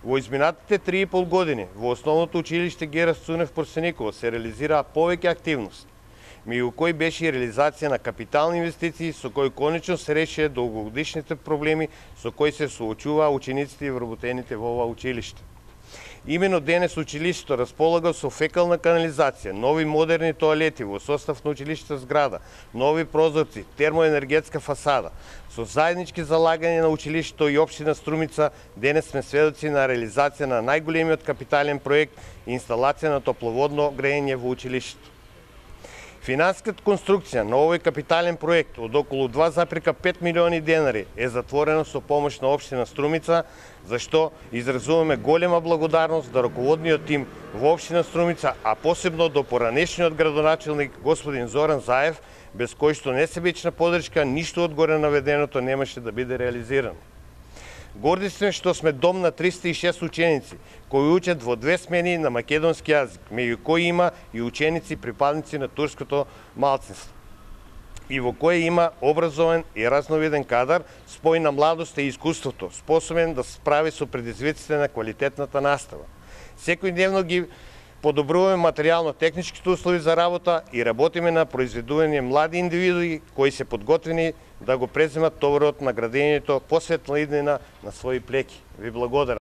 Во изминатите 3,5 години во основното училиште Гера Сцунев Порсеникова се реализираа повеќе активности, меѓу кои беше и реализација на капитални инвестиции со кои конечно се решија долгогодишните проблеми со кои се соочуваа учениците и вработените во ова училиште. Имено денес училиштето располага со фекална канализација, нови модерни тоалети во состав на училишната зграда, нови прозорци, термоенергетска фасада. Со заеднички залагања на училиштето и општина Струмица, денес сме сведоци на реализација на најголемиот капитален проект и инсталација на топловодно грејење во училиштето. Финансиската конструкција на овој капитален проект од околу 2,5 милиони денари е затворена со помош на општина Струмица, за што изразуваме голема благодарност до раководниот тим во општина Струмица, а посебно до поранешниот градоначелник господин Зоран Заев, без кој што несебична поддршка ништо од горе наведеното немаше да биде реализирано. Горди сме што сме дом на 306 ученици, кои учат во 2 смени на македонски јазик, меѓу кои има и ученици припадници на турското малцинство, и во кој има образован и разновиден кадар, спој на младоста и искуството, способен да се справи со предизвиците на квалитетната настава. Секојдневно ги подобруваме материјално-техничките услови за работа и работиме на произведување млади индивидуи кои се подготвени да го преземат товарот на градењето по светла иднина на своји плеки. Ви благодарам.